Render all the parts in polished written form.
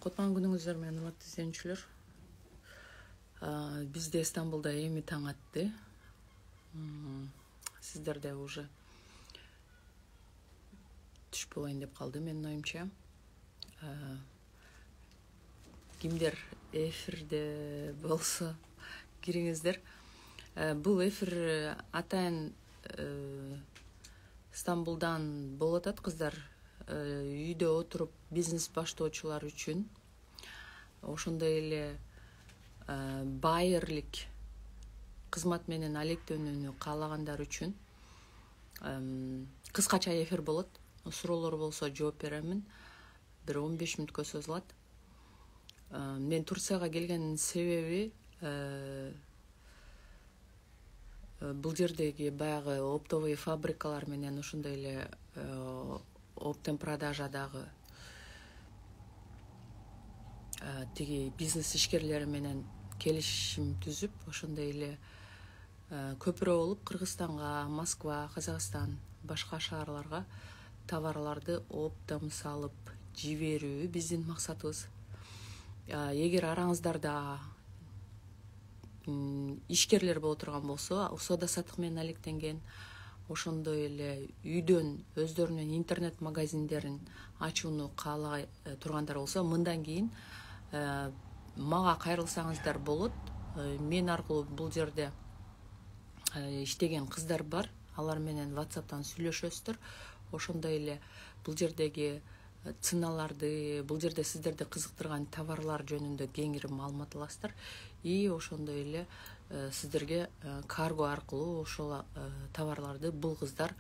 Кутман күнүңүздөр менен урматтуу изленүүчүлөр. Бизде Стамбулда эми таң атты. Сиздерде уже түш болоюн деп калды менин оюмча. Кимдер эфирде болсо кириңиздер. Бул эфир атайын Стамбулдан болуп атат кыздар. Үйдө отуруп бизнес баштоочулар үчүн, ошондой эле байерлик кызмат менен алектенүүнү каалагандар үчүн кыскача эфир болот. Суроолор болсо жооп беремин. Бир 15 мүнөткө созулат. Мен Турцияга келгенин себеби бул жердеги баягы оптовый фабрикалар менен ошондой эле оптом продажадагы тиги бизнес ишкерлери менен келишим түзүп, ошондой эле көпүрө болуп Кыргызстанга, Москва, Казакстан, башка шаарларга товарларды оптом салып жиберүү биздин максатыбыз. Эгер араңыздарда ишкерлер боло турган болсо, соода саттык менен алектенген, ошондой эле үйдөн өздөрүнүн интернет магазиндерин ачууну каалагай тургандар болсо, мындан кийин мага кайрылсаңыздар болот. Мен аркылуу бул жерде иштеген кыздар бар. Алар менен WhatsApp'тан сүйлөшөсүздөр. Ошондой эле бул жердеги ценаларды, бул жерде сиздерди кызыктырган товарлар жөнүндө кеңири маалымат аласыздар. И ошондой эле сиздерге карго аркылуу ошол товарларды бул кыздар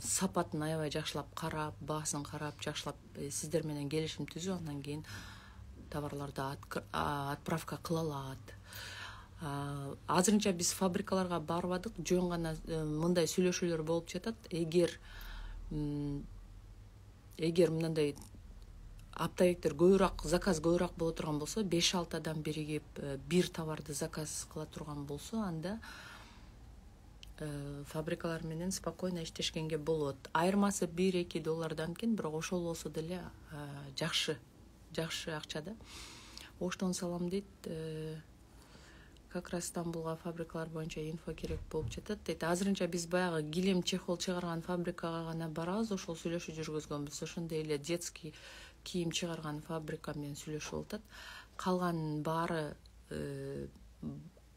сапатын аябай жакшылап карап, баасын карап, жакшылап сиздер менен келишим түзүп, андан кийин товарларды отправка кыла алат. Азырынча биз фабрикаларга барбадык, жөн гана мындай сүйлөшүүлөр болуп жатат. Эгер мындай аптабектер көбүрөөк заказ көбүрөөк боло турган болсо, 5-6 адам биригип бир товарды заказ кыла турган болсо, анда фабрикалар менен спокойно иштешкенге болот. Айырмасы $1-2 экен, бирок ошол болсо деле жакшы акча да. Оштон салам дейт. Как раз Стамбулга фабрикалар боюнча инфо керек болуп жатат. Азырынча биз баягы килем чехол чыгарган фабрикага гана барабыз, ошол сүйлөшүү жүргүзгөнбүз. Ошондой эле детский кийим чыгарган фабрика менен сүйлөшүп атат. Калган баары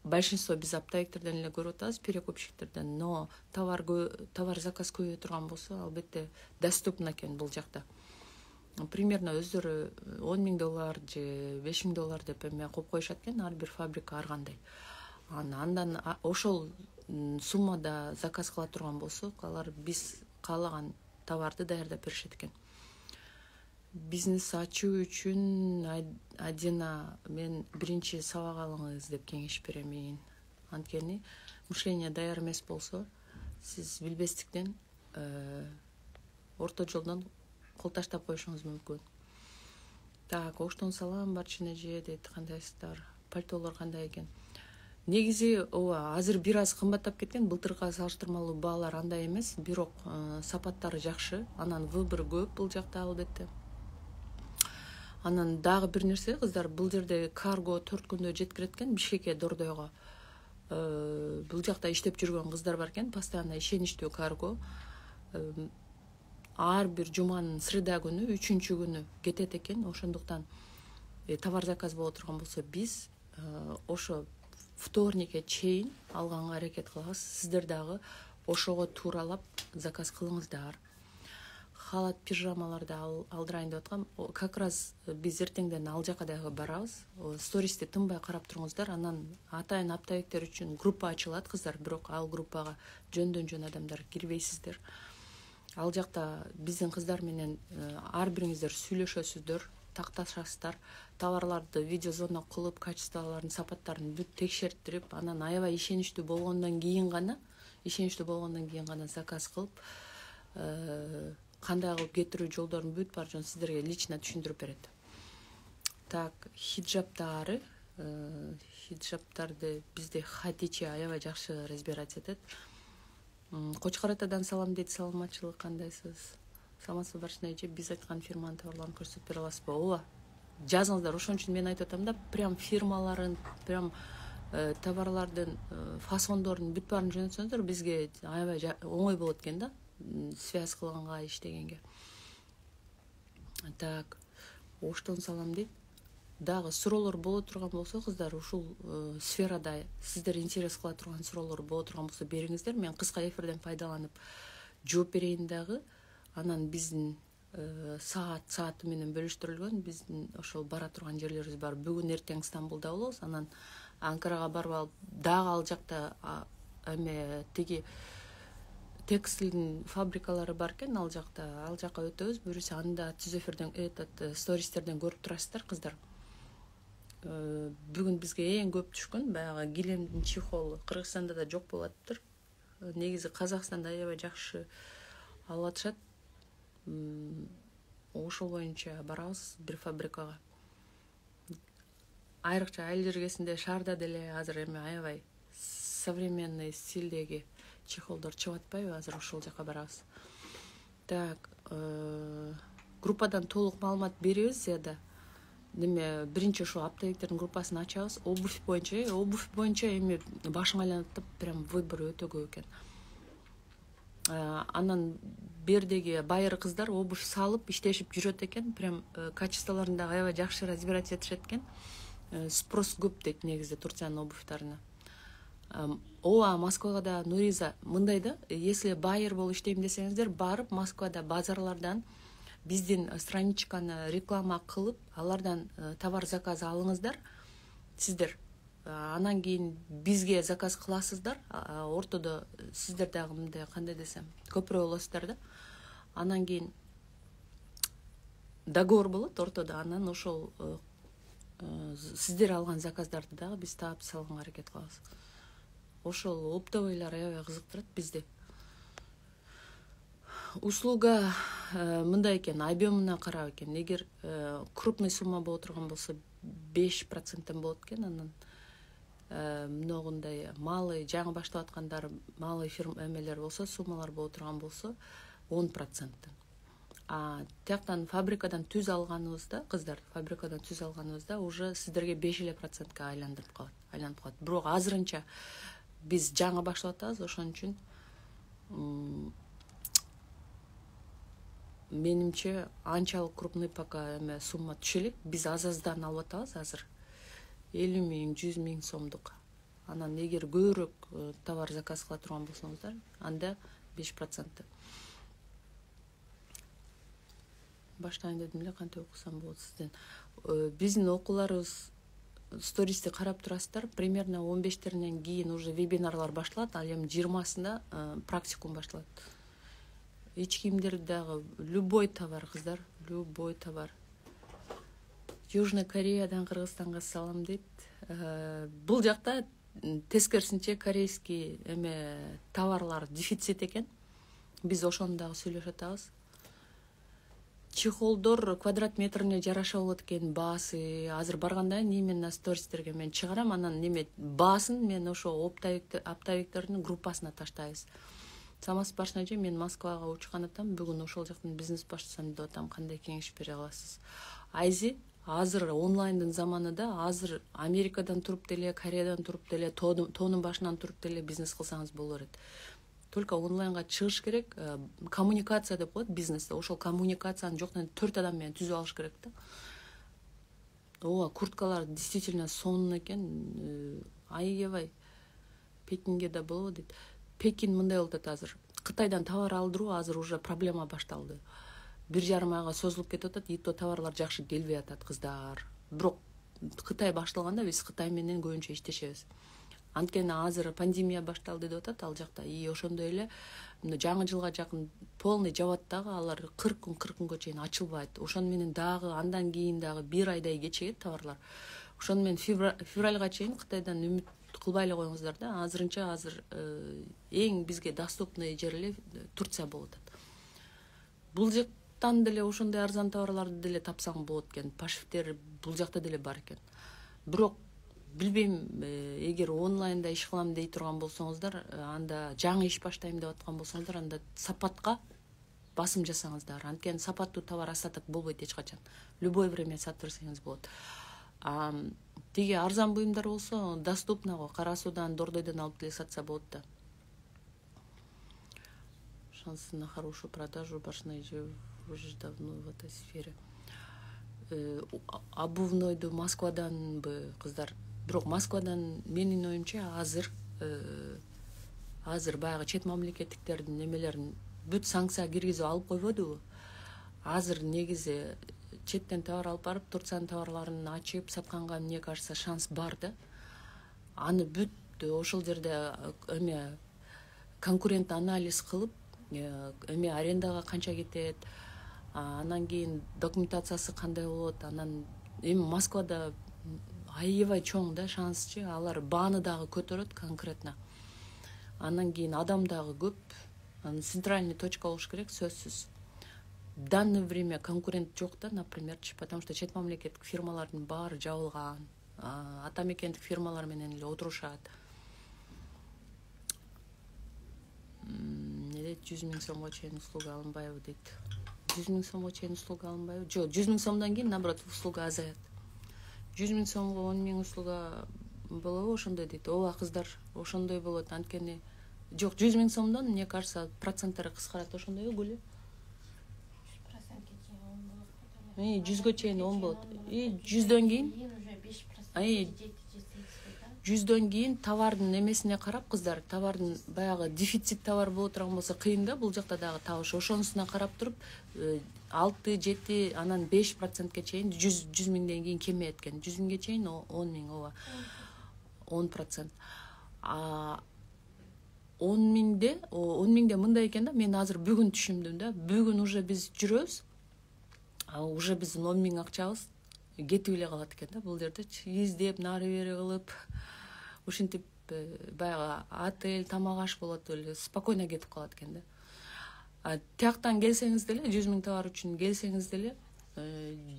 большинство биз оптовиктерден эле көрүп атабыз, перекупщиктерден. Но товар заказ көбөйө турган болсо, албетте доступно экен бул жакта. Примерно өздөрү $10,000 же $5,000 деп эме коюп коюшат экен, ар бир фабрика ар кандай. Андан ошол суммада заказ кыла турган болсо, алар биз каалаган товарды даярдап беришет экен. Бизнес ачуу үчүн Адина мен биринчи сабак алыңыз деп кеңеш беремин. Анткени мышление даяр эмес болсо, сиз билбестиктен орто жолдон кол таштап коюшуңуз мүмкүн. Так, оштон салам Барчын эже дейт, кандайсыздар? Пальтолор кандай экен? Негизи азыр бир аз кымбаттап кеткен, былтырга салыштырмалуу баалар андай эмес, бирок сапаттары жакшы, анан выбор көп бул жакта албетте. Анан дагы бир нерсе, кыздар, бул жерде карго 4 күндө жеткирет экен Бишкекке, Дордойго. Бул жакта иштеп жүргөн кыздар бар экен, постоянно ишеничтүү карго. Ар бир жуманын среда күнү, 3-чү күнү кетет экен. Ошондуктан товар заказ боло турган болсо, биз ошо вторникке чейин алганга аракет кылабыз. Сиздер дагы ошого тууралап заказ кылыңыздар. Халат, пижамаларды алдырайын деп аткам. Как раз биз эртеңден ал жака дагы барабыз. Стористи тынбай карап туруңуздар. Анан атайын оптовиктер үчүн группа ачылат, кыздар, бирок ал группага жөндөн адамдар кирбейсиздер. Ал жакта биздин кыздар менен ар бириңиздер сүйлөшөсүздөр, такташасыздар, товарларды видеозвонок кылып, качестволорун, сапаттарын бүт текшертирип, анан аябай ишеничтүү болгондон кийин гана заказ кылып, кандай кылып кетирүү жолдорун бүт бар жон сиздерге лично түшүндүрүп берет. Так, хиджаптарды бизде Хатиче аябай жакшы разбирать этет. Кочкор атадан салам дейт, саламатчылык, кандайсыз? Саламатсызбы Барчын эже, биз айткан фирманын товарларын көрсөтүп бере аласызбы? Ооба, жазыңыздар. Ошон үчүн мен айтып атам да, прям фирмаларын, прям товарлардын фасондордун бүт баарын жөнөтсөңүздөр бизге аябай оңой болот экен да, связь кылганга, иштегенге. Так, оштон салам дейт. Дагы суроолор боло турган болсо, кыздар, ушул сферада сиздер интерес кыла турган суроолор боло турган болсо бериңиздер. Мен кыска эфирден пайдаланып жооп берейин дагы. Анан биздин сааты менен бөлүштүрүлгөн, биздин ошол бара турган жерлерибиз бар. Бүгүн эртең Стамбулда болобуз, анан Анкарага барып алып, дагы ал жакта тиги текстилдин фабрикалары бар экен, ал жакка өтөбүз. Буюрса анда түз эфирден стористерден көрүп турасыздар, кыздар. Бүгүн бизге эң көп түшкөн баягы килемдин чехолу. Кыргызстанда да жок болуп атыптыр. Негизи Казакстанда аябай жакшы алып атышат. Ошол боюнча барабыз бир фабрикага. Айрыкча айыл жергесинде, шаарда деле азыр эми аябай современный стилдеги чехолдор чыгып атпайбы? Азыр ошол жака барабыз. Так, группадан толук маалымат беребиз зияда. Неме биринчи ошо оптовиктердин группасын ачабыз. Обувь боюнча эми башың айланып атып, прям выбор өтө көп экен. Анан бердеги байыр кыздар обувь салып иштешип жүрөт экен, прям качестволорун да аябай жакшы разбирать этишет экен. Спрос көп дейт негизи Турциянын обувьтарына. Ооба, Москвага да Нуриза мындай да, если байер болуп иштейм десеңиздер, барып Москвада базарлардан биздин страничканы реклама кылып, алардан товар заказ алыңыздар. Сиздер анан кийин бизге заказ кыласыздар. Ортодо сиздер дагы мындай, кандай десем, көпүрө болосуздар да. Анан кийин договор болот ортодо. Анан ошол сиздер алган заказдарды дагы биз таап салганга аракет кылабыз. Ошол оптовыйлар аябай кызыктырат бизди. Услуга мындай экен, объемуна карап экен. Эгер крупный сумма боло турган болсо 5% болот экен. Анан многундай малый, жаңы баштап аткандар, малый фирма эмелер болсо, суммалар боло турган болсо 10%. Тияктан фабрикадан түз алганыбызда, кыздар, уже сиздерге 5% айланып калат. Бирок азырынча биз жаңы баштап атабыз, ошон үчүн менимче анчалык крупный пока сумма түшө элек. Биз аз-аздан алып атабыз азыр. 50 000, 100 000 сомдук. Анан эгер көбүрөөк товар заказ кыла турган болсоңуздар, анда 5%. Баштайын дедим эле, кантип окусам болот сизден. Биздин окууларыбыз стористи карап турасыздар. Примерно 15-теринен кийин уже вебинарлар башталат. Ал эми 20-сында практикум башталат. Эч кийимдер дагы любой товар, кыздар, любой товар. Южный Кореядан Кыргызстанга салам дейт. Бул жакта тескерисинче корейский товарлар дефицит экен. Биз ошону дагы сүйлөшүп атабыз. Чехолдор квадрат метрине жараша болот экен баасы. Азыр барганда именно стористерге мен чыгарам, анан баасын мен ошо оптовиктердин группасына таштайбыз. Самас башнажы, мен Москвага учкан атам. Бүгүн ошол жактан бизнес баштасам деп атам. Кандай кеңеш бере аласыз? Айзи, азыр онлайндын заманында, азыр Америкадан туруп деле, Кореядан туруп деле, тоонун башынан туруп деле бизнес кылсаңыз боло берет. Только онлайнга чыгыш керек. Коммуникация деп коет бизнесте. Ошол коммуникацияны жоктон 4 адам менен түзүп алыш керек да. Ооба, курткалар действительно сонун экен. Айыбай. Пекинге да болобу дейт. Пекин мындай болуп атат азыр. Кытайдан товар алдыруу азыр уже проблема башталды. 1,5 айга созулуп кетип атат. Ито товарлар жакшы келбей атат, кыздар. Бирок Кытай башталганда биз Кытай менен көбүнчө иштешебиз. Анткени азыр пандемия башталды деп атат ал жакта. Ошондой эле жаңы жылга жакын полный жабат дагы, алар 40 күнгө чейин ачылбайт. Ошону менен дагы андан кийин дагы 1 айдай кечигет товарлар. Ошону менен февралга чейин Кытайдан үмүт кылбай эле коюңуздар да. Азырынча эң бизге доступный жер эле Турция болуп атат. Бул жактан деле ошондой арзан товарларды деле тапсаң болот экен. Пашифтер бул жакта деле бар экен. Бирок билбейм, эгер онлайнда иш кылам дей турган болсоңуздар, анда жаңы иш баштайм деп аткан болсоңуздар, анда сапатка басым жасаңыздар. Анткени сапаттуу товар астатык болбойт эч качан. Любой время сатып берсеңиз болот. Тиги арзан буюмдар болсо доступно го, Кара Суудан, Дордойдон алып келе сатса болот да. Шансы на хорошую продажу башной же уже давно в этой сфере. Обувнойду Москваданбы кыздар? Бирок Москвадан менин оюмча азыр баягы чет мамлекеттиктердин немелерин бүт санкция киргизип алып койбодубу? Азыр негизи четтен товар алып барып, Турциянын товарларын ачып сатканга, мне кажется, шанс бар да. Аны бүт ошол жерде конкурент анализ кылып, арендага канча кетет, анан кийин документациясы кандай болот, анан Москвада аябай чоң да шансчы, алар бааны дагы көтөрөт конкретно. Анан кийин адам дагы көп, центральный точка болуш керек, сөзсүз. В данное время конкурент жок да, например, потому что чет мамлекеттик фирмалардын баары жабылган, ата мекендик фирмалар менен эле отурушат. 100 000 сомго чейин услуга алынбайбы дейт. 100 000 сомго чейин услуга алынбайбы? Жок, 100 000 сомдон кийин наоборот услуга азаят. 100 000 сомго 10 000 услуга болобу ошондой дейт. Ооба кыздар, ошондой болот. Анткени жок, 100 000 сомдон, мне кажется, проценттери кыскарат. Ошондойбу Гүлү? 100га чейин 10 болот. 100дөн кийин 100дөн кийин товардын эмесине карап, кыздар, товардын баягы дефицит товар боло турган болсо кыйын да, бул жакта дагы табыш. Ошонусуна карап туруп 6-7, анан 5%ке чейин 100 000ден кийин кемейет экен. 100 000ге чейин 10 000, ооба. 10%. 10 000де мындай экен да, мен азыр бүгүн түшүндүм да. Бүгүн уже биз жүрөбүз. Уже биздин 10 000 акчабыз кетип эле калат экен да, бул жерде издеп, нары бери кылып, ушинтип баягы отель, тамак аш болот эле, спокойно кетип калат экен да. Тияктан келсеңиз деле, 100 000 товар үчүн келсеңиз деле,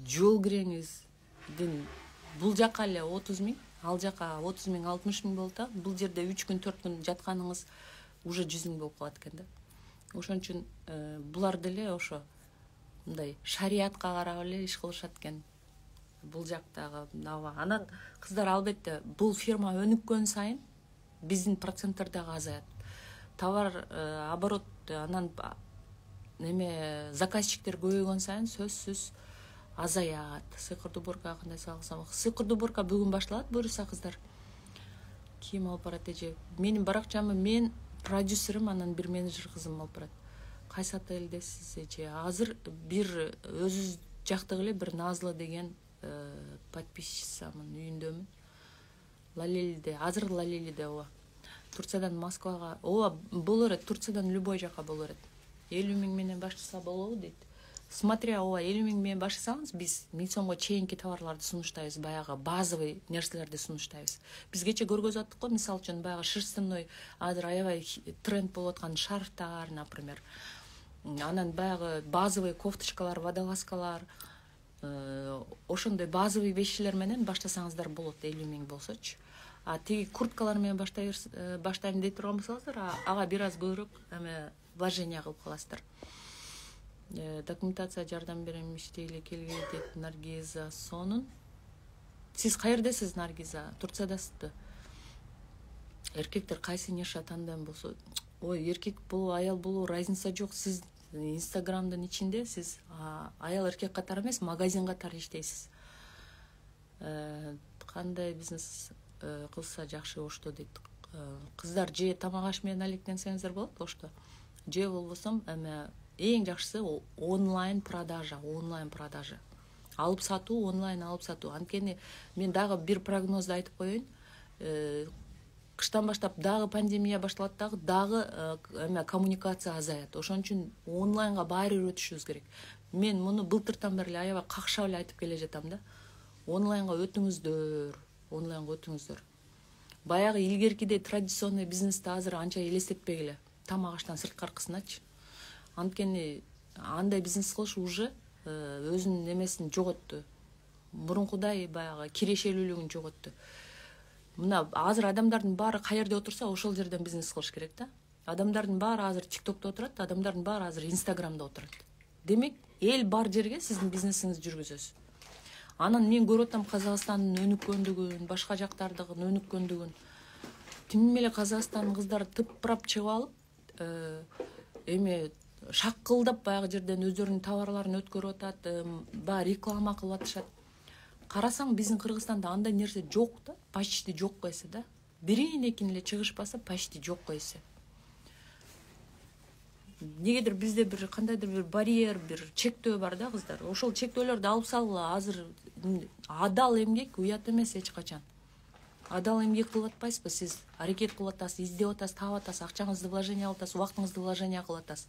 жол кириңиздин бул жака эле 30 000, ал жака 30 000, 60 000 болот да. Бул жерде 3 күн, 4 күн жатканыңыз уже 100 000 болуп калат экен да. Ошон үчүн булар деле ошо мындай шариятка карап эле иш кылышат экен. Бул жактагы анан кыздар, албетте бул фирма өнүккөн сайын биздин проценттер дагы азаят. Товар оборот, анан заказчиктер көбөйгөн сайын сөзсүз азаят. Сыйкырдуу уборка кандай салсам, сыйкырдуу уборка бүгүн башталат, буюрса кыздар. Ким алып барат эже? Менин баракчамы мен, продюсерим, анан бир менеджер кызым алып барат. Кайсы отелдесиз эже? Азыр бир өзүбүз жактык эле бир Назла деген подписчисамын, үйүндөмүн. Лалелиде, азыр Лалелиде, ооба. Турциядан Москвага, ооба, боло берет, Турциядан любой жака боло берет. 50 000 менен баштаса болобу дейт. Смотря, ооба, 50 000 менен баштасаңыз, биз 1000 сомго чейинки товарларды сунуштайбыз, баягы базовый нерселерди сунуштайбыз. Биз кече көргөзөттүк го, мисалы үчүн баягы шерстяной, азыр аябай тренд болуп аткан шарфтар, например. Анан баягы базовый кофточкалар, водолазкалар, ошондой базовый вещилер менен баштасаңыздар болот, 50 000 болсочу. Тиги курткалар менен баштайм дей турган болсоңуздар, ага бир аз көбүрөөк вложение кылып каласыздар. Документация жардам берем, иштейли келгей дейт Наргиза Сонун. Сиз каердесиз, Наргиза? Турциядасызбы? Эркектер кайсы ниша тандайм болсо, ой, эркек болуу, аял болуу разница жок. Сиз Инстаграмдын ичинде сиз аял эркек катары эмес, магазин катары иштейсиз. Кандай бизнес кылса жакшы ошто дейт. Кыздар, же тамак аш менен алектенсеңиздер болот ошто. Же болбосо эң жакшысы онлайн продажа, алып сатуу, онлайн алып сатуу. Анткени мен дагы бир прогнозду айтып коеюн. Кыштан баштап дагы пандемия башталат, дагы коммуникация азаят. Ошон үчүн онлайнга баары өтүшүбүз керек. Мен муну былтыртан бери аябай какшап эле айтып келе жатам да. Онлайнга өтүңүздөр. Баягы илгеркидей традиционный бизнести азыр анча элестетпегиле. Тамак аштан сырткаркысыначы. Анткени андай бизнес кылыш уже өзүнүн эмесин жоготту. Мурункудай баягы кирешелүүлүгүн жоготту. Мына азыр адамдардын баары каерде отурса, ошол жерден бизнес кылыш керек да. Адамдардын баары азыр ТикТокто отурат, адамдардын баары азыр Инстаграмда отурат. Демек, эл бар жерге сиздин бизнесиңизди жүргүзөсүз. Анан мен көрүп атам Казакстандын өнүккөндүгүн, башка жактардын өнүккөндүгүн. Тим эле Казакстандын кыздары тыпырап чыгып алып, шаккылдап баягы жерден өздөрүнүн товарларын өткөрүп атат, баягы реклама кылып атышат. Карасаң, биздин Кыргызстанда андай нерсе жок да, почти жок койсо да. Бирин экин эле чыгышпаса, почти жок койсо. Негедир бизде бир кандайдыр бир барьер, бир чектөө бар да, кыздар. Ошол чектөөлөрдү алып салгыла. Азыр адал эмгек уят эмес эч качан. Адал эмгек кылып атпайсызбы? Сиз аракет кылып атасыз, издеп атасыз, таап атасыз, акчаңызды вложение кылып атасыз, убактыңызды вложение кылып атасыз.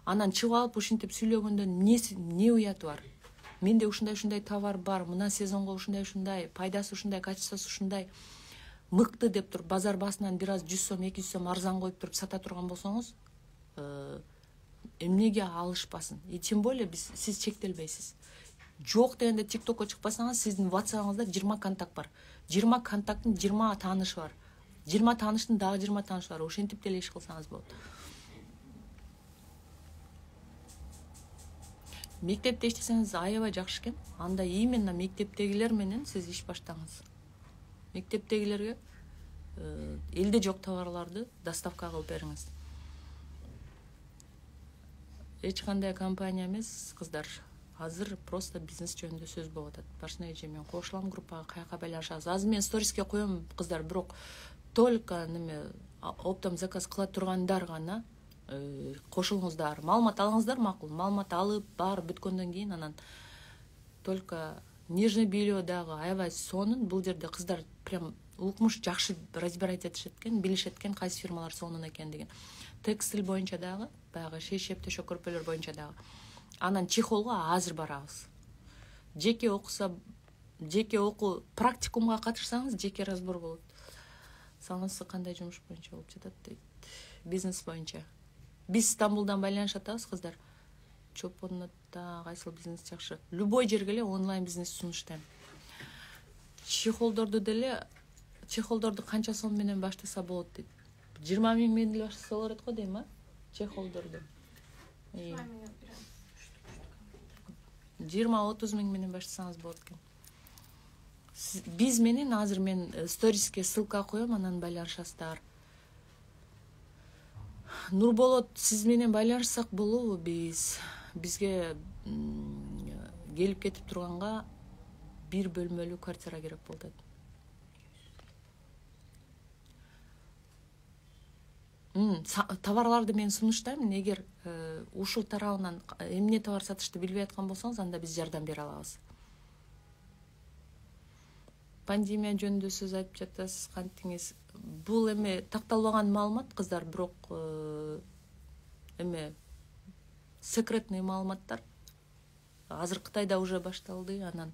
Анан чыгып алып ушинтип сүйлөгөндө не уяты бар? Менде ушундай товар бар, мына сезонго ушундай, пайдасы ушундай, качествосу ушундай. Мыкты деп туруп базар баасынан бир аз 100 сом, 200 сом арзан коюп туруп сата турган болсоңуз, эмнеге алышпасын? Тем более сиз чектелбейсиз. Жок дегенде ТикТокко чыкпасаңыз, сиздин WhatsApp-ыңызда 20 контакт бар. 20 контакттын 20 таанышы бар. 20 тааныштын дагы 20 таанышы бар. Ошентип деле иш кылсаңыз болот. Мектепте иштесеңиз аябай жакшы экен. Анда именно мектептегилер менен сиз иш баштаңыз. Мектептегилерге элде жок товарларды доставка кылып бериңиз. Эч кандай компания эмес, кыздар. Азыр просто бизнес жөнүндө сөз болуп атат. Башына эже мен кошулам группага, каяка байланышабыз. Азыр мен сториске коем, кыздар, бирок только оптом заказ кыла тургандар гана кошулуңуздар. Маалымат алыңыздар, макул. Маалымат алып, баары бүткөндөн кийин анан только нижний белье дагы аябай сонун. Бул жерде кыздар прям укмуш жакшы разбирать этишет экен, билишет экен кайсы фирмалар сонун экен деген. Текстиль боюнча дагы, баягы шейшеп төшөк көрпөлөр боюнча дагы. Анан чехолго азыр барабыз. Жеке окуу практикумга катышсаңыз жеке разбор болот. Салыңызсы кандай жумуш боюнча болуп жатат дейт. Бизнес боюнча. Биз Стамбулдан байланышып атабыз, кыздар. Чопонотто кайсыл бизнес жакшы? Любой жерге эле онлайн бизнес сунуштайм. Чехолдорду канча сом менен баштаса болот дейт. 20 000 менен баштаса болот го дейм, а? Чехолдорду. 20-30 000 менен баштасаңыз болот экен. Биз менен азыр мен сториске ссылка коем, анан байланышасыздар. Нурболот, сиз менен байланышсак болобу? Бизге келип кетип турганга 1 бөлмөлүү квартира керек болот. Товарларды мен сунуштайм. Эгер ушул тарабынан эмне товар сатышты билбей аткан болсоңуз, анда биз жардам бере алабыз. Пандемия жөнүндө сөз айтып жатасыз, кантиңиз? Бул такталбаган маалымат, кыздар, бирок секретный маалыматтар. Азыр Кытайда уже башталды. Анан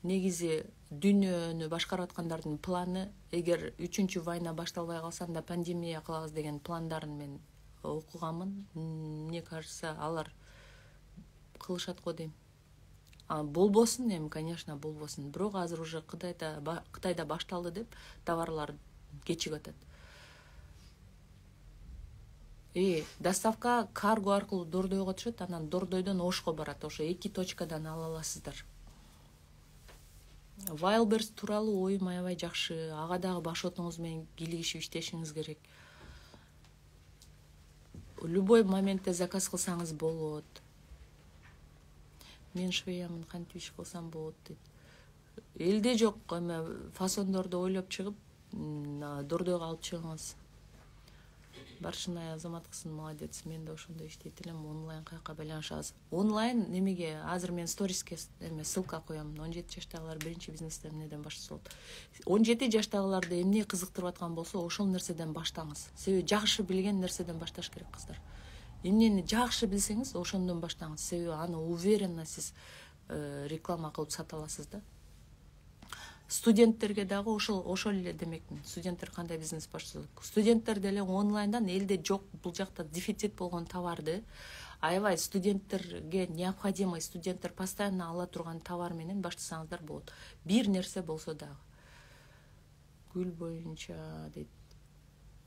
негизи дүйнөнү башкарып аткандардын планы, эгер 3-чү война башталбай калса, анда пандемия кылабыз деген пландарын мен окуганмын. Мне кажется, алар кылышат го дейм. Болбосун, конечно, болбосун. Бирок азыр уже Кытайда башталды деп товарлар кечигип атат. Доставка карго аркылуу Дордойго түшөт, анан Дордойдон Ошко барат. Ошо 2 точкадан ала аласыздар. Wildberries тууралуу оюм аябай жакшы. Ага дагы башотуңуз менен кийлигишип иштешиңиз керек. Любой моментте заказ кылсаңыз болот. Мен швеямын, кантип иш кылсам болот дейт. Элде жок фасондорду ойлоп чыгып, Дордойго алып чыгыңыз. Баршынай азаматкысын, молодец. Мен да ошондой иштейт элем. Онлайн каяка байланышабыз. Онлайн немеге азыр мен сториске ссылка коем. 17 жаштагылар биринчи бизнести эмнеден баштаса болот. 17 жаштагыларды эмне кызыктырып аткан болсо, ошол нерседен баштаңыз. Себеби жакшы билген нерседен башташ керек, кыздар. Эмнени жакшы билсеңиз, ошондон баштаңыз. Себеби аны уверенно сиз реклама кылып сата аласыз да. Студенттерге дагы ошол эле демекмин. Студенттер кандай бизнес баштаса, студенттер деле онлайндан элде жок, бул жакта дефицит болгон товарды аябай студенттерге необходимый, студенттер постоянно ала турган товар менен баштасаңыздар болот. Бир нерсе болсо дагы. Гүл боюнча дейт.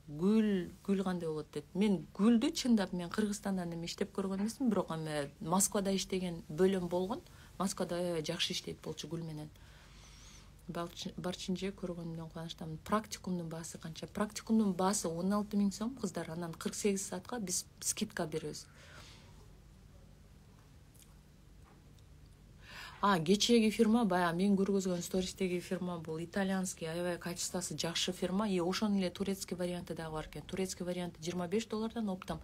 гүл кандай болот дейт. Мен гүлдү чындап мен Кыргызстандан эми иштеп көргөн эмесмин, бирок эми Москвада иштеген бөлөм болгон. Москвада аябай жакшы иштейт болчу гүл менен. Барчынча көргөнүмдөн кубанычтамын. Практикумдун баасы канча? Практикумдун баасы 16 000 сом кыздар. Анан 48 саатка биз скидка беребиз. Кечээги фирма, баягы мен көргөзгөн стористеги фирма бул итальянский, аябай качествосы жакшы фирма. И ошонун эле турецкий варианты дагы бар экен. Турецкий варианты $25 оптом.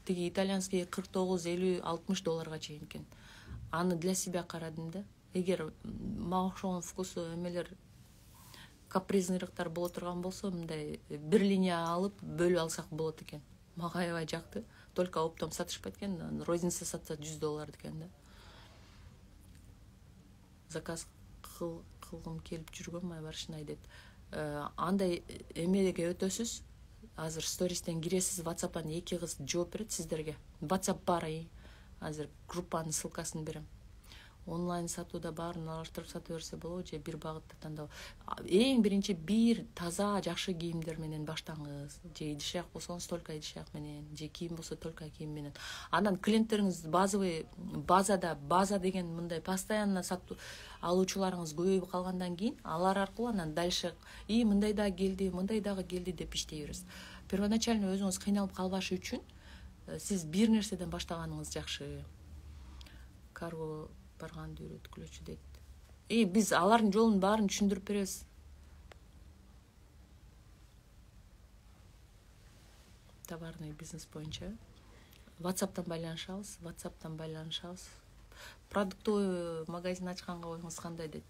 Тиги итальянский 49, 50, 60 долларга чейин экен. Аны для себя карадым да. Эгер мага окшогон вкусу эмелер капризнырыктар боло турган болсо, мындай бир линия алып бөлүп алсак болот экен. Мага аябай жакты. Только оптом сатышпайт экен, розница сатса $100 экен да. Заказ кылгым келип жүргөн майбарышын айдет. Андай эмеге өтөсүз. Азыр стористен киресиз, WhatsApp'тан 2 кыз жооп берет сиздерге. WhatsApp бар. Азыр группанын ссылкасын берем. Онлайн сатууда баарын алыштырып сата берсе болобу же бир багытты тандоо. Эң биринчи бир таза жакшы кийимдер менен баштаңыз. Же идиш-аяк болсоңуз только идиш-аяк менен, же кийим болсо только кийим менен. Анан клиенттериңиз базовый база деген мындай постоянно сатуу алуучуларыңыз көбөйүп калгандан кийин алар аркылуу анан дальше мындай дагы келди деп иштей бересиз. Первоначально өзүңүз кыйналып калбашы үчүн сиз бир нерседен баштаганыңыз жакшы. Карго барганды үйрөткүлөчү дейт. Биз алардын жолун баарын түшүндүрүп беребиз. Товарный бизнес боюнча WhatsApp'тан байланышабыз. Продуктовый магазин ачканга оюңуз кандай дейт.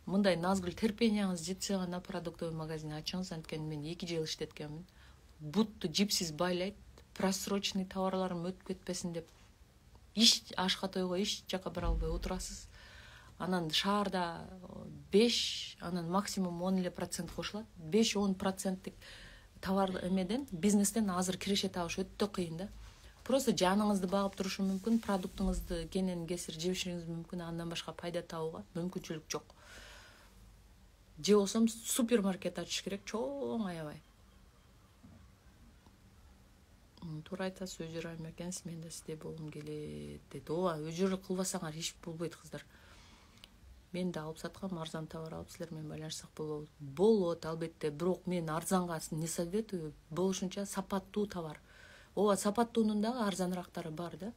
Мындай Назгүл терпенияңыз жетсе гана продуктовый магазин ачыңыз. Анткени мен 2 жыл иштеткенмин. Бутту жипсиз байлайт, просроченный товарларым өтүп кетпесин деп. Ашка тойго эч жака бара албай отурасыз. Анан шаарда 5, анан максимум 10% кошулат. 5-10% товар эмеден, бизнестен азыр киреше табыш өтө кыйын да. Просто жаныңызды багып турушу мүмкүн, продуктуңузду кенен кесир жебишиңиз мүмкүн, андан башка пайда табууга мүмкүнчүлүк жок. Же болсом супермаркет ачыш керек, чоң аябай. Туура айтасыз, өжөр айым экенсиз, мен да сизде болгум келет дейт. Өжөр кылбасаңар иш болбойт кыздар. Мен да алып саткам, арзан товар алып силер менен байланышсак болобу? Болот, албетте, бирок мен арзанга не советую, болушунча сапаттуу товар. Сапаттуунун дагы арзаныраактары бар да.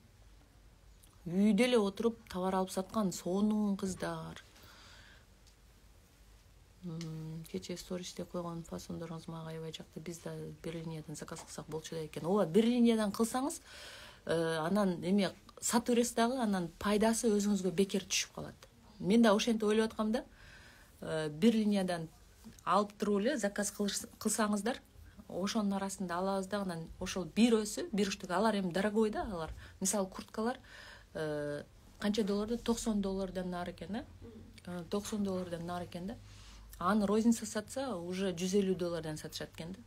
Үйдө эле отуруп товар алып саткан сонун кыздар. Кечээ стористе койгон фасондоруңуз мага аябай жакты. Биз да бир линиядан заказ кылсак болчу да экен. Бир линиядан кылсаңыз, анан эме сатып бересиз дагы, анан пайдасы өзүңүзгө бекер түшүп калат. Мен да ошентип ойлоп аткам да. Бир линиядан алып туруп эле заказ кылсаңыздар, ошонун арасында алабыз да, анан ошол бирөөсү, бир штук, алар эми дорогой да, алар. Мисалы курткалар канча долларда? $90 нары экен да. $90 нары экен да. Аны розница сатса уже $150 сатышат экен да.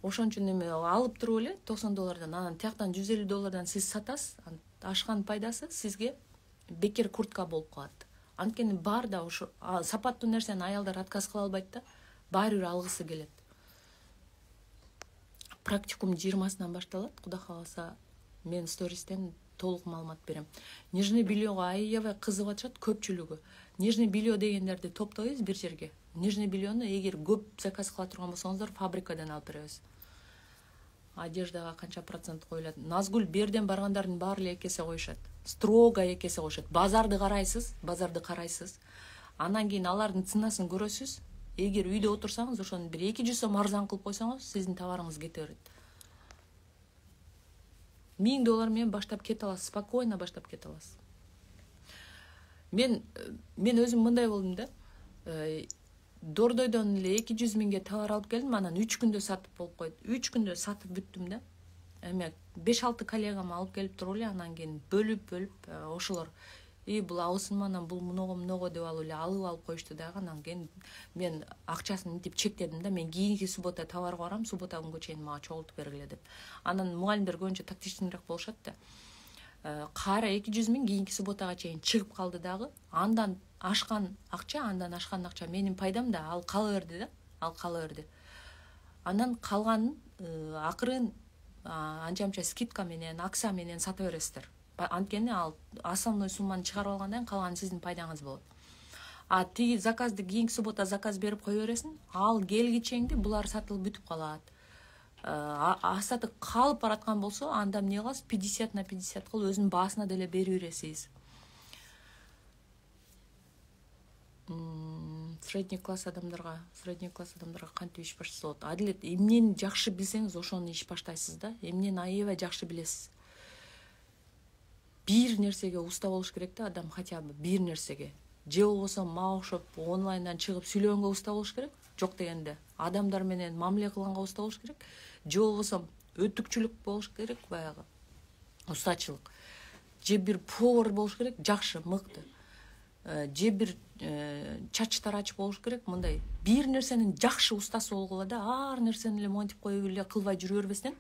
Ошон үчүн эме алып туруп эле $90, анан тияктан $150 сиз сатасыз, ашкан пайдасы сизге бекер куртка болуп калат. Анткени бар да ошо сапаттуу нерсени аялдар отказ кыла албайт да, баары бир алгысы келет. Практикум 20-сынан башталат, Кудай кааласа мен стористен толук маалымат берем. Нижний бельега аябай кызыгып атышат көпчүлүгү. Нижний белье дегендерди топтойбуз бир жерге. Нижний бельену эгер көп заказ кыла турган болсоңуздар, фабрикадан алып беребиз. Одеждага канча процент коюлат? Назгүл берден баргандардын баары эле экесе коюшат. Строго экесе коюшат. Базарды карайсыз. Андан кийин алардын ценасын көрөсүз. Эгер үйдө отурсаңыз, ошону бир 200 сом арзан кылып койсоңуз, сиздин товарыңыз кете берет. $1000 менен баштап кете аласыз, спокойно баштап кете аласыз. Мен өзүм мындай болдум да. Дордойдон эле 200 000ге товар алып келдим, анан 3 күндө сатып болуп койду. 3 күндө сатып бүттүм да. Эме 5-6 коллегам алып келип туруп эле, анан кийин бөлүп ошолор бул абысынма, анан бул много деп алып коюшту дагы. Анан кийин мен акчасын мынтип чектедим да. Мен кийинки суббота товарга барам, суббота күнгө чейин мага чогултуп бергиле деп. Анан мугалимдер көбүнчө тактичныйраак болушат да. Кайра 200 000 кийинки субботага чейин чыгып калды дагы. Андан ашкан акча менин пайдам да, ал кала берди да. Анан калганын акырын анча скидка менен, акция менен сата бересиздер. Анткени ал основной сумманы чыгарып алгандан кийин калганы сиздин пайдаңыз болот. Тиги заказды кийинки суббота заказ берип кое бересиң, ал келгичеңди булар сатылып бүтүп калат. Сатып калып бараткан болсо, анда эмне кыласыз? 50/50 кылып өзүнүн баасына деле бере бересиз. Средний класс адамдарга кантип иш баштаса болот? Адилет, эмнени жакшы билсеңиз, ошону иш баштайсыз да. Эмнени аябай жакшы билесиз. Бир нерсеге уста болуш керек да адам, хотя бы бир нерсеге. Же болбосо мага окшоп онлайндан чыгып сүйлөгөнгө уста болуш керек. Жок дегенде, адамдар менен мамиле кылганга уста болуш керек. Же болбосо өтүкчүлүк болуш керек, баягы устачылык. Же бир повар болуш керек, жакшы, мыкты. Же бир чач тарач болуш керек, мындай бир нерсенин жакшы устасы болгула да, ар нерсени эле монтип коюп эле кылбай жүрө бербестен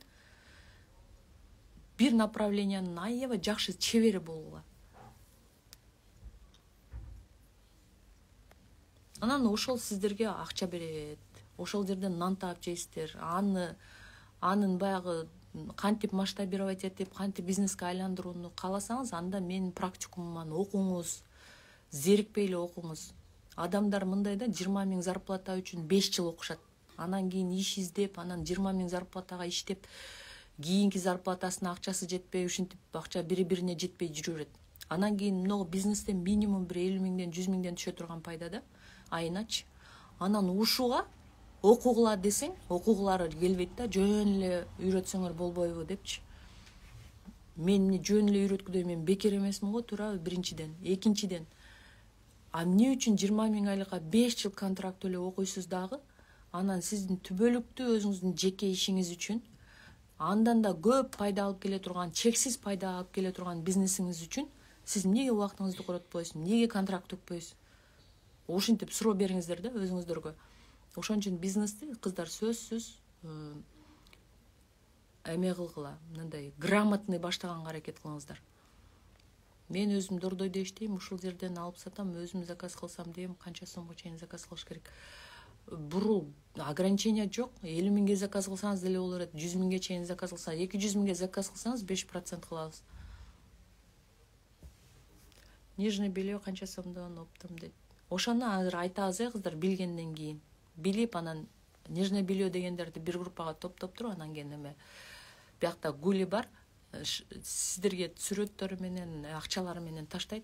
бир направлениянын аябай жакшы чебери болгула. Анан ошол сиздерге акча берет. Ошол жерден нан таап жейсиздер. Анын баягы кантип масштабировать этип, кантип бизнеске айландырууну кааласаңыз, анда менин практикумуман окуңуз. Зерикпей эле окуңуз. Адамдар мындай да 20 000 зарплата үчүн 5 жыл окушат. Анан кийин иш издеп, анан 20 000 зарплатага иштеп, кийинки зарплатасына акчасы жетпей, ушинтип акча бири-бирине жетпей жүрө берет. Анан кийин много бизнестен минимум бир 50 000-ден 100 000-ден түшө турган пайда да, айыначы. Анан ушуга окугула десең, окугулары келбейт да, жөн эле үйрөтсөңөр болбойбу депчи. Мен жөн эле үйрөткүдөй мен бекер эмесмин го, туурабы, биринчиден. Экинчиден, эмне үчүн 20 000 айлыкка 5 жыл контракт эле окуйсуз дагы? Анан сиздин түбөлүктүү өзүңүздүн жеке ишиңиз үчүн, андан да көп пайда алып келе турган, чексиз пайда алып келе турган бизнесиңиз үчүн сиз эмнеге убактыңызды коротпойсуз, эмнеге контракт төкпөйсүз? Ушинтип суроо бериңиздер да өзүңүздөргө. Ошон үчүн бизнести кыздар сөзсүз эме кылгыла, мындай грамотный баштаганга аракет кылыңыздар. Мен өзүм Дордойдо иштейм, ушул жерден алып сатам, өзүм заказ кылсам дейм, канча сомго чейин заказ кылыш керек. Бурул ограничение жок. 50 000ге заказ кылсаңыз деле болор эт. 100 000ге чейин заказ кылсаңыз, 200 000ге заказ кылсаңыз 5% кылабыз. Нижний белье канча сомдон оптом дейт. Ошону азыр айтабыз кыздар, билгенден кийин. Билип, анан нижний белье дегендерди бир группага топтоп туруп, анан кийин эме биякта гули бар, сиздерге сүрөттөрү менен, акчалары менен таштайт.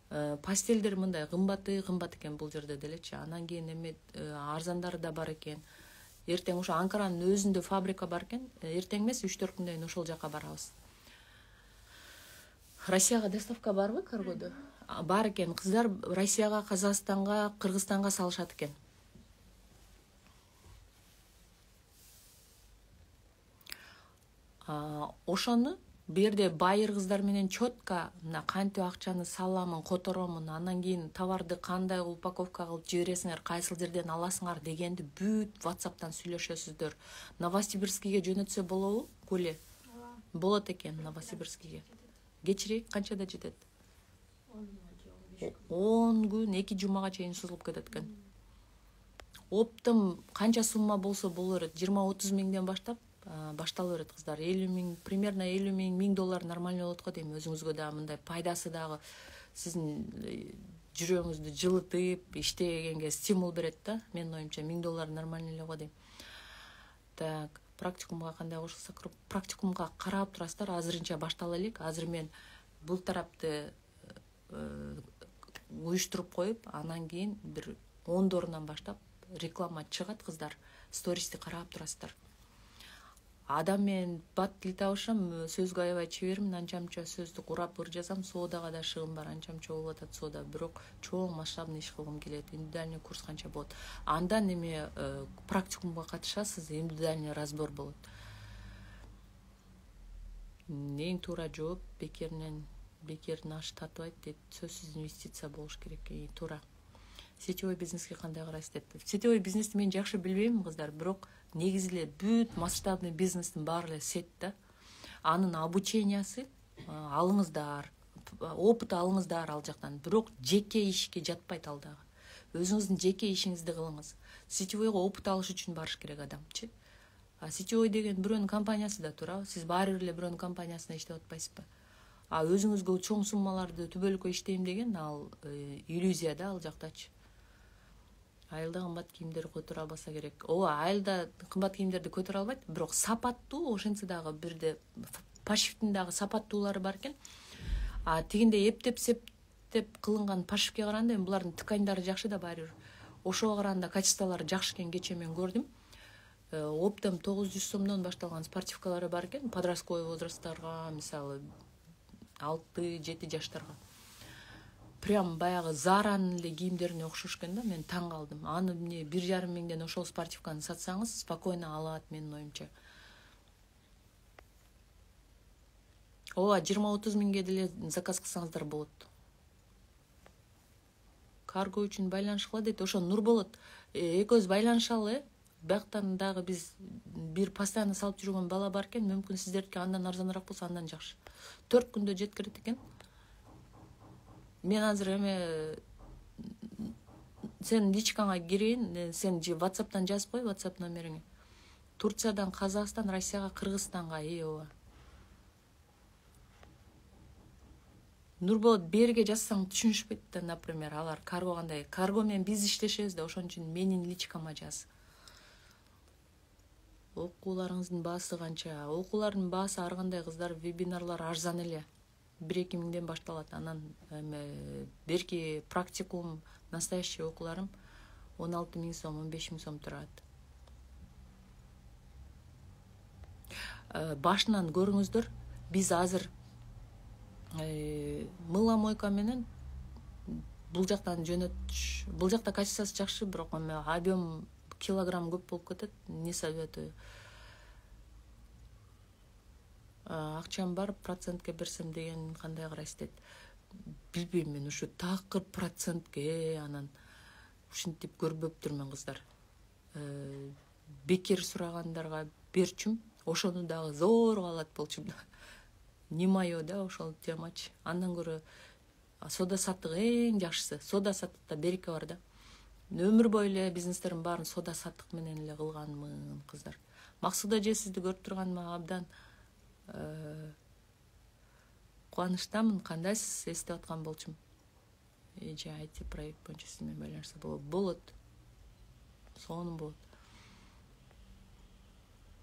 Пастелдер мындай кымбат экен бул жерде делечи. Анан кийин эме арзандары да бар экен. Эртең ошо Анкаранын өзүндө фабрика бар экен. Эртең эмес 3-4 күндөн кийин ошол жака барабыз. Россияга доставка барбы каргодо? Бар экен. Кыздар Россияга, Казакстанга, Кыргызстанга салышат экен. Ошону бу жерде байыр кыздар менен четко кантип акчаны саламын, которомун, анан кийин товарды кандай упаковка кылып жибересиңер, кайсыл жерден аласыңар дегенди бүт WhatsApp'тан сүйлөшөсүздөр. Новосибирскиге жөнөтсө болобу? Куле. Болот экен Новосибирскиге. Кечирээк канчада жетет? 10 күн, 2 жумага чейин созулуп кетет экен. Оптом канча сумма болсо болор эт, 20-30 000ден баштап баштала берет кыздар. 50 000, примерно 50 000, $1000 нормально болот го дейм. Өзүңүзгө дагы мындай пайдасы дагы сиздин жүрөгүңүздү жылытып, иштегенге стимул берет да. Менин оюмча $1000 нормально эле го дейм. Так, практикумга кандай кошулсак, практикумга карап турасыздар. Азырынча баштала элек. Азыр мен бул тарапты уюштуруп коюп, анан кийин бир 10-дорунан баштап реклама чыгат кыздар. Стористи карап турасыздар. Адам менен бат тил табышам, сөзгө аябай чебермин, анча-мынча сөздү урап ыр жазам, соодага да шыгым бар, анча-мынча болуп атат соода, бирок чоң масштабный иш кылгым келет. Индивидуальный курс канча болот? Андан эме практикумга катышасыз, индивидуальный разбор болот. Эң туура жооп бекердин ашы татыбайт дейт. Сөзсүз инвестиция болуш керек, туура. Сетевой бизнеске кандай карайсыз деп. Сетевой бизнести мен жакшы билбейм кыздар, бирок негизи эле бүт масштабный бизнестин баары эле сет да. Анын обучениясы алыңыздар, опыт алыңыздар ал жактан, бирок жеке ишке жатпайт ал дагы. өзүңүздүн жеке ишиңизди кылыңыз. Сетевойго опыт алыш үчүн барыш керек адамчы. А сетевой деген бирөөнүн компаниясы да туурабы? Сиз баары бир эле бирөөнүн компаниясына иштеп атпайсызбы? А өзүңүзгө чоң суммаларды түбөлүккө иштейм деген ал иллюзия да, ал жактачы. Айылда кымбат кийимдер көтөрө албаса керек. Ооба, айылда кымбат кийимдерди көтөрө албайт, бирок сапаттуу, ошентсе дагы бирде пошивдин дагы сапаттуулары бар экен. А тигинде эптеп кылынган пошивке караганда эми булардын тканьдары жакшы да баары бир. Ошого караганда качестволору жакшы экен, кечээ мен көрдүм. Оптом 900 сомдон башталган спортивкалары бар экен, подростковый возрасттарга, мисалы 6-7 жаштарга. Прям баягы Заранын эле кийимдерине окшош экен да, мен таң калдым. Аны эмне 1,5 миңден ошол спортивканы сатсаңыз, спокойно алат менин оюмча. Ооба, 20-30 миңге деле заказ кылсаңыздар болот. Карго үчүн байланышкыла дейт, ошо Нурболот. Экөөбүз байланышалы, бияктан дагы биз бир постоянно салып жүргөн бала бар экен, мүмкүн сиздердики андан арзаныраак болсо андан жакшы. 4 күндө жеткирет экен. Мен азыр сен личкаңа кирейин, сен WhatsApp'тан жазып кой, WhatsApp номериңи. Турциядан Казакстан, Россияга, Кыргызстанга, ооба. Нурболот берге жазсаң түшүнүшпөйт да, например, алар карго кандай. Карго менен биз иштешебиз да, ошон үчүн менин личкама жаз. Окууларыңыздын баасы канча? Окуулардын баасы ар кандай кыздар, вебинарлар арзан эле. 1-2 миңден башталат. Анан берки практикум, настоящий окууларым 16 миң сом, 15 миң сом турат. Башынан көрүңүздөр, биз азыр мыломойка менен бул жактан жөнөтүш. Бул жакта качествосы жакшы, бирок объем килограмм көп болуп кетет. Не советую. Акчам бар, процентке берсем деген кандай карайсыз дейт. Билбейм мен, ушу такыр процентке, анан ушинтип көрбөптүрмүн кыздар. Бекер сурагандарга берчүм, ошону дагы зорго алат болчумун. Не моё да, ошол темачы. Андан көрө сода саттык эң жакшысы. Сода саттыкта береке бар да. Өмүр бою эле бизнестердин баарын сода саттык менен эле кылганмын, кыздар. Максуда же сизди көрүп турганыма абдан кубанычтамын. Кандайсыз, эстеп аткан болчумун. Же IT проект боюнча сиз менен байланышса болот. Сонун болот.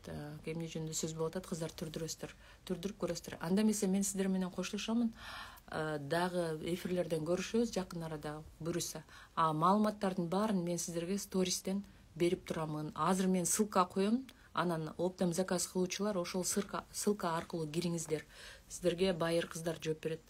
Так, эмне жөнүндө сөз болуп атат, кыздар, түрдүрүп көрөсүздөр. Анда эмесе мен сиздер менен коштошомун. Дагы эфирлерден көрүшөбүз жакын арада буюрса. Маалыматтардын баарын мен сиздерге стористен берип турамын. Азыр мен ссылка коем, анан оптом заказ кылуучулар ошол ссылка аркылуу кириңиздер. Сиздерге байыр кыздар жооп берет.